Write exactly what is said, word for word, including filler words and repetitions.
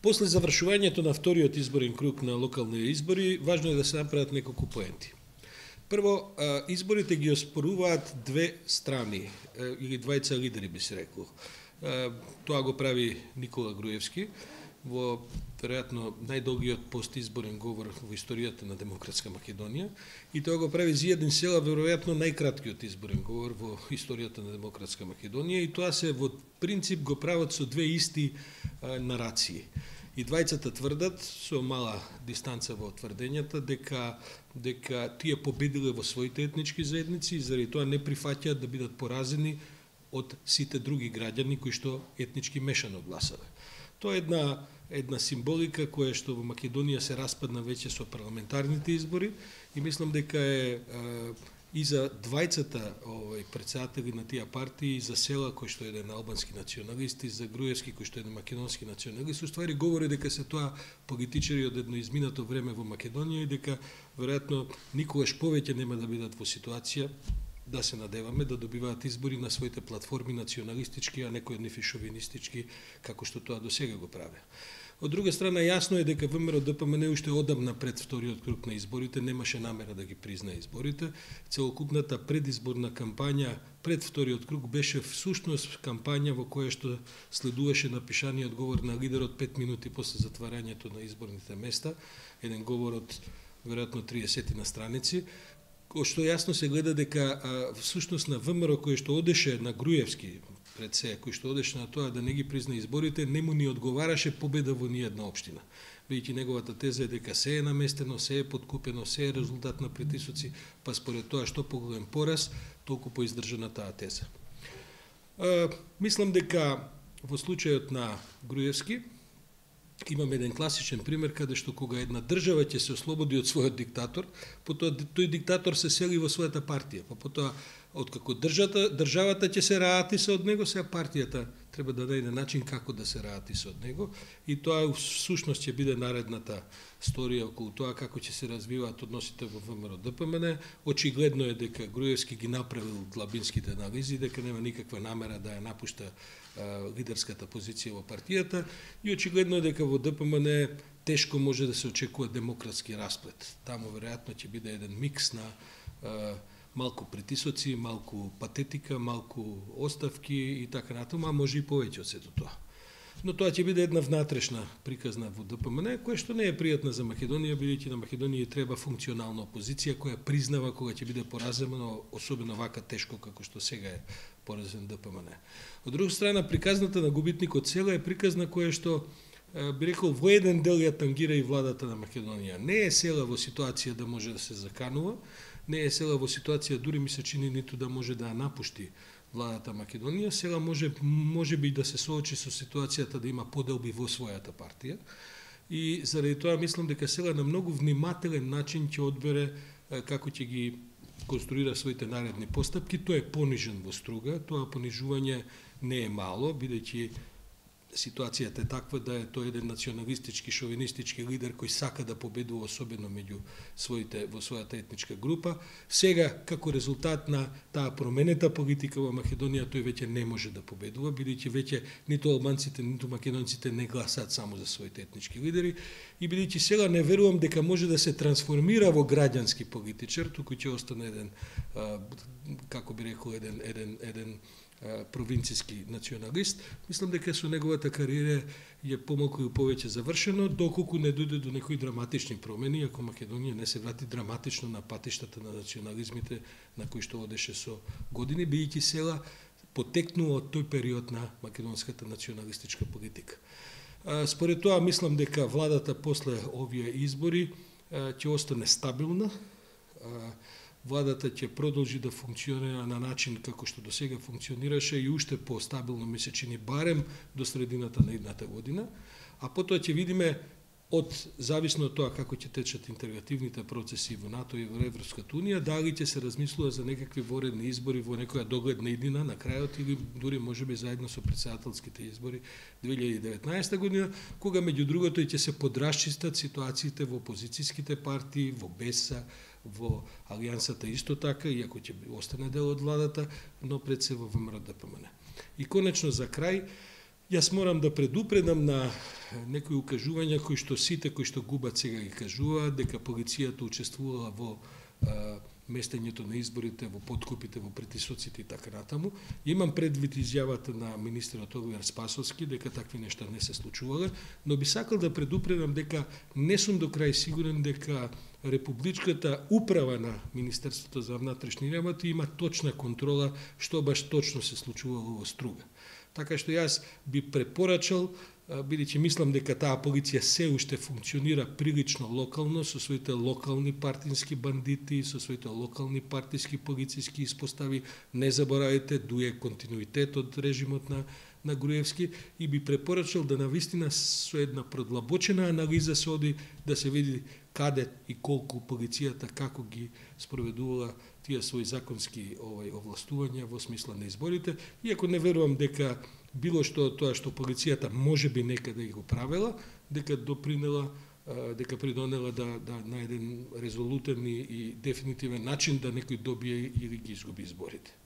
После завршувањето на вториот изборен круг на локални избори, важно е да се направат неколку поенти. Прво, изборите ги оспоруваат две страни, или двајца лидери би се рекло. Тоа го прави Никола Груевски во веројатно најдолгиот постизборен говор во историјата на Демократска Македонија, и тоа го прави Зијадин Села веројатно најкраткиот изборен говор во историјата на Демократска Македонија, и тоа се во принцип го прават со две исти а, нарации. И двајцата тврдат со мала дистанца во тврдењата дека дека тие победиле во своите етнички заедници и заради тоа не прифаќаат да бидат поразени од сите други граѓани кои што етнички мешано гласале. Тоа е една една символика која што во Македонија се распадна веќе со парламентарните избори, и мислам дека е а, и за двајцата овој претседатели на тие партии, и за Села кој што е еден албански националист, и за Груевски кој што е еден македонски националист, уствари говори дека се тоа политичари од едно изминато време во Македонија и дека веројатно никогаш повеќе нема да бидат во ситуација да се надеваме да добиваат избори на своите платформи националистички, а некои едни шовинистички, како што тоа до сега го правеа. Од друга страна, јасно е дека ВМРО Д П М Н уште одамна пред вториот круг на изборите немаше намера да ги признае изборите. Целокупната предизборна кампања пред вториот круг беше всушност кампања во која што следуваше напишаниот говор на лидерот пет минути после затварањето на изборните места, еден говор од веројатно триесет на страници, што јасно се гледа дека а, всушност на ВМРО кој што одеше на Груевски пред се, кој што одеше на тоа да не ги призна изборите, не му ни одговараше победа во ниједна општина. Бидејќи неговата теза е дека се е наместено, се е подкупено, се е резултат на притисоци, па според тоа што поголем пораз, толку поиздржана таа теза. А, мислам дека во случајот на Груевски имаме еден класичен пример каде што кога една држава ќе се ослободи од својот диктатор, потоа тој диктатор се сели во својата партија, па потоа откако држата, државата ќе се раати се од него, сега партијата треба да најде начин како да се раати се од него, и тоа всушност ќе биде наредната сторија околу тоа како ќе се развиваат односите во ВМРО Д П М Н. Очигледно е дека Груевски ги направил длабинските анализи, дека нема никаква намера да ја напушта а, лидерската позиција во партијата, и очигледно е дека во Д П М Н тешко може да се очекува демократски расплет. Таму веројатно ќе биде еден микс на а, малку притисоци, малку патетика, малку оставки и така натаму, а може и повеќе од сето тоа. Но тоа ќе биде една внатрешна приказна во Д П М Н, која што не е пријатна за Македонија, бидејќи на Македонија треба функционална опозиција која признава кога ќе биде поразено, особено вака тешко како што сега е поразен Д П М Н. Од друга страна, приказната на губитникот Села е приказна која што би рекол во еден дел ја тангира и владата на Македонија. Не е Села во ситуација да може да се заканува, не е Села во ситуација, дури ми се чини, ниту да може да ја напушти владата Македонија. Села може може би да се соочи со ситуацијата да има поделби во својата партија, и заради тоа мислам дека Села на многу внимателен начин ќе одбере како ќе ги конструира своите наредни постапки. Тој е понижен во струга, тоа понижување не е мало, бидејќи ситуацијата е таква да е тој еден националистички, шовинистички лидер кој сака да победува особено меѓу своите во својата етничка група. Сега, како резултат на таа променета политика во Македонија, тој веќе не може да победува, бидејќи веќе ниту албанците, ниту македонците не гласаат само за своите етнички лидери, и бидејќи сега не верувам дека може да се трансформира во граѓански политичар, туку ќе остане еден, а, како би рекол, еден еден еден провинцијски националист. Мислам дека со неговата кариера е помалку и повеќе завршено, доколку не дојде до некои драматични промени, ако Македонија не се врати драматично на патиштата на национализмите на кои што одеше со години, бидејќи Села потекнува од тој период на македонската националистичка политика. Според тоа, мислам дека владата после овие избори ќе остане стабилна, владата ќе продолжи да функционира на начин како што до сега функционираше и уште по-стабилно ми се чини барем до средината на едната година, а потоа ќе видиме од зависно од тоа како ќе течат интегративните процеси во НАТО и во Европската унија, дали ќе се размислува за некакви воредни избори во некоја догледна иднина на крајот или дури можеби заедно со претседателските избори две илјади и деветнаесета година, кога меѓу другото и ќе се подрасчистат ситуациите во опозицијските партии, во БЕСА, во Алијансата исто така, иако ќе остане дел од владата, но пред се во ВМРО Д П М Н. И конечно за крај, Јас морам да предупредам на некои укажувања кои што сите кои што губат сега ги кажуваат дека полицијата учествувала во а, местењето на изборите, во подкупите, во притисоците и така натаму. Имам предвид изјавата на министерот Огнар Спасовски дека такви нешта не се случувале, но би сакал да предупредам дека не сум до крај сигурен дека Републичката управа на Министерството за внатрешни работи има точна контрола што баш точно се случувало во Струга. Така што јас би препорачал, бидејќи мислам дека таа полиција се уште функционира прилично локално, со своите локални партиски бандити, со своите локални партиски полициски испостави, не заборавајте, дуе континуитет од режимот на, на Груевски, и би препорачал да навистина со една продлабочена анализа се оди да се види каде и колку полицијата како ги спроведувала тие своји законски овај овластувања во смисла на изборите, иако не верувам дека било што тоа што полицијата може би некаде го правела, дека допринела, дека придонела да, да на еден резолутен и, и дефинитивен начин да некој добие или ги изгуби изборите.